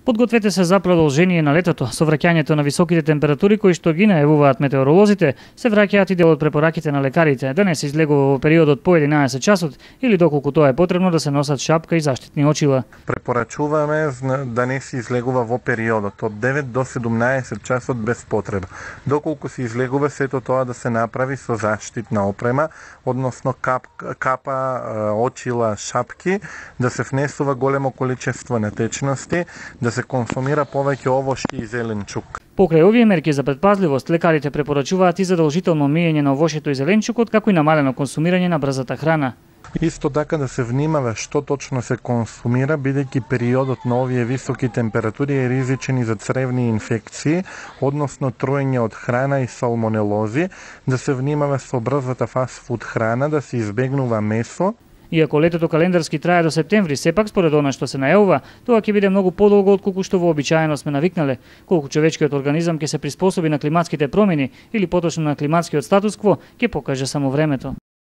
Подгответе се за продолжение на летото. Со враќањето на високите температури кои што ги најавуваат метеоролозите, се враќаат и дел од препораките на лекарите да не се излегува во периодот по 11 часот или доколку тоа е потребно да се носат шапка и заштитни очила. Препорачуваме да не се излегува во периодот од 9 до 17 часот без потреба. Доколку се излегува, сето тоа да се направи со заштитна опрема, односно капа, очила, шапки, да се внесува големо количество на течности, да се консумира повеќе овошје и зеленчук. Покрај овие мерки за предпазливост, лекарите препорачуваат и задолжително миење на овошјето и зеленчукот, како и намалено консумирање на брзата храна. Исто така да се внимава што точно се консумира, бидејќи периодот на овие високи температури е ризичен и за цревни инфекции, односно труење од храна и салмонелози, да се внимава со брзата фастфуд храна, да се избегнува месо. Иако летото календарски трае до септември, сепак според она што се најавува, тоа ќе биде многу подолго отколку што вообичаено сме навикнале, колку човечкиот организам ќе се приспособи на климатските промени или поточно на климатскиот статус кво, ќе покаже само времето.